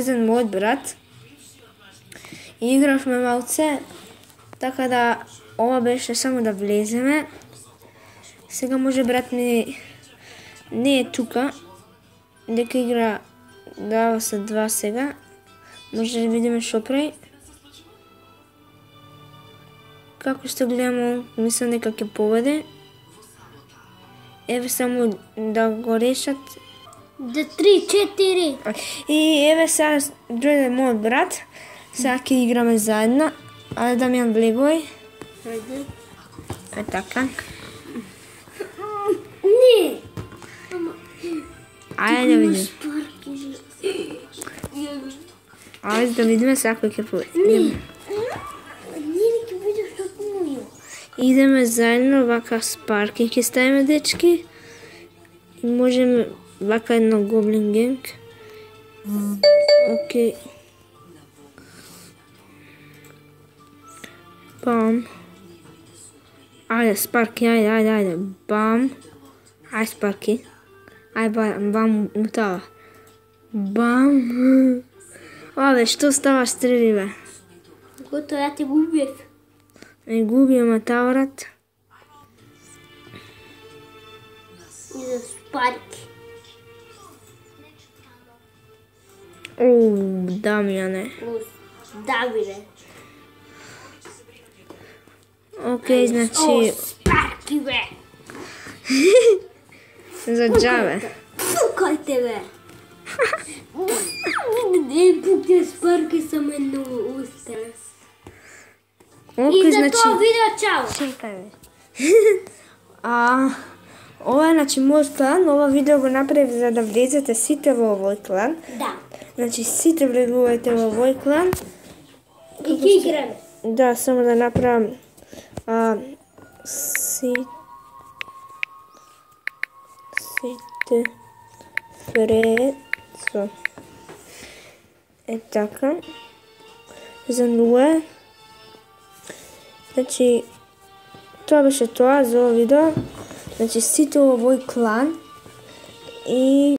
поврзан мојот брат. И игравме малце, така да ова беше само да влеземе. Сега може брат ми не е тука, дека игра дава се 2 сега. Може да видиме шо прави. Како што гледаме, мислам дека ќе победи. Еве само да го решат. Да 3-4. И еве сега дојде мојот брат. Сега ќе играме заедно. Ајде Дамјан влегој. Ајде. Е така. Не. Ајде да видиме. Ајде да видиме сега кој ќе победи. Идеме заедно, вака спарки ќе ставиме, дечки. И можеме вака едно гоблин генг. Окей. Бам. Ајде, спарки, ајде. Бам. Ајде, спарки. Ајде, бам, мутава. Бам. Абе, што става, стрели, бе? Готово, ја те го убиев. Не губи матаврат. И за спарки. Дамјане. Давиде. Окей, значи... Спарки, бе. За џабе. Пукај те, бе. Не пукте спарки сам едно устре. Окей, И за значи... тоа видео, чао. Чекај, бе. Ова е, значи, мојот клан. Ова видео го направив за да влезете сите во овој клан. Да. Значи, сите влегувајте во овој клан. И ќе играме. Да, само да направам... Сите Фрецо. Е така. За нула. Значи, тоа беше тоа за ова видео. Значи, сите во овој клан и